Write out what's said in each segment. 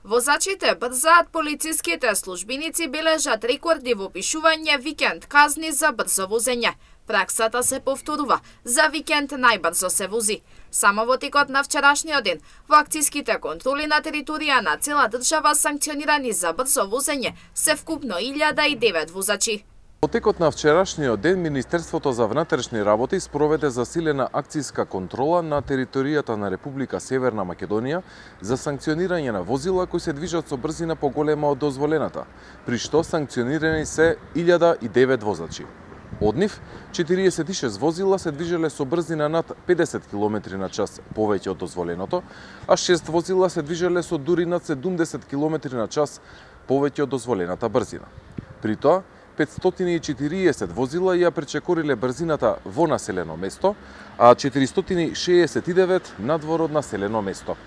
Возачите брзаат, полициските службеници бележат рекорди во пишување викенд казни за брзо возење. Праксата се повторува, за викенд најбрзо се вози. Само во текот на вчерашниот ден, во акцијските контроли на територија на цела држава санкционирани за брзо возење се вкупно 1009 возачи. Во текот на вчерашниот ден, Министерството за внатрешни работи спроведе засилена акцијска контрола на територијата на Република Северна Македонија за санкционирање на возила кои се движат со брзина поголема од дозволената, при што санкционирани се 1009 возачи. Од нив, 46 возила се движеле со брзина над 50 км на час повеќе од дозволеното, а 6 возила се движеле со дури над 70 км на час повеќе од дозволената брзина. При тоа, 540 возила ја пречекориле брзината во населено место, а 469 надвор од населено место.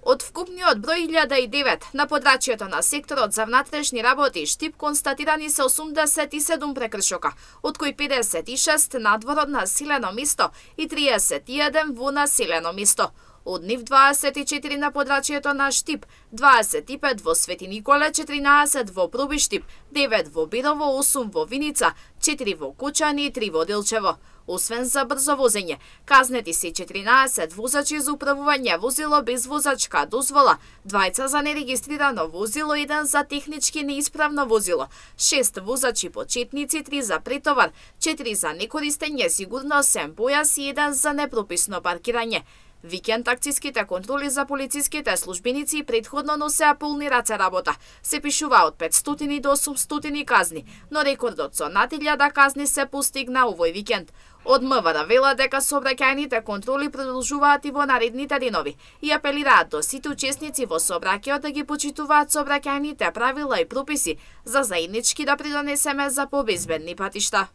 Од вкупниот број 1009 на подрачјето на секторот за внатрешни работи и Штип констатирани се 87 прекршока, од кои 56 надвор од населено место и 31 во населено место. Од нив 24 на подрачјето на Штип, 25 во Свети Николе, 14 во Проби Штип, 9 во Бирово, 8 во Виница, 4 во Кучани и 3 во Делчево. Освен за брзо возење, казнети се 14 возачи за управување возило без возачка дозвола, 2 за нерегистрирано возило, 1 за технички неисправно возило, 6 возачи почетници, 3 за претовар, 4 за некористење сигурносен појас и 1 за непрописно паркирање. Викенд акцијските контроли за полициските службеници претходно носеа полни раце работа. Се пишува од 500 до 800 казни, но рекордот со над 1000 казни се постигна овој викенд. Од МВР вела дека сообраќајните контроли продолжуваат и во наредните денови и апелираат до сите учесници во сообраќајот да ги почитуваат сообраќајните правила и прописи за заеднички да придонесеме за побезбедни патишта.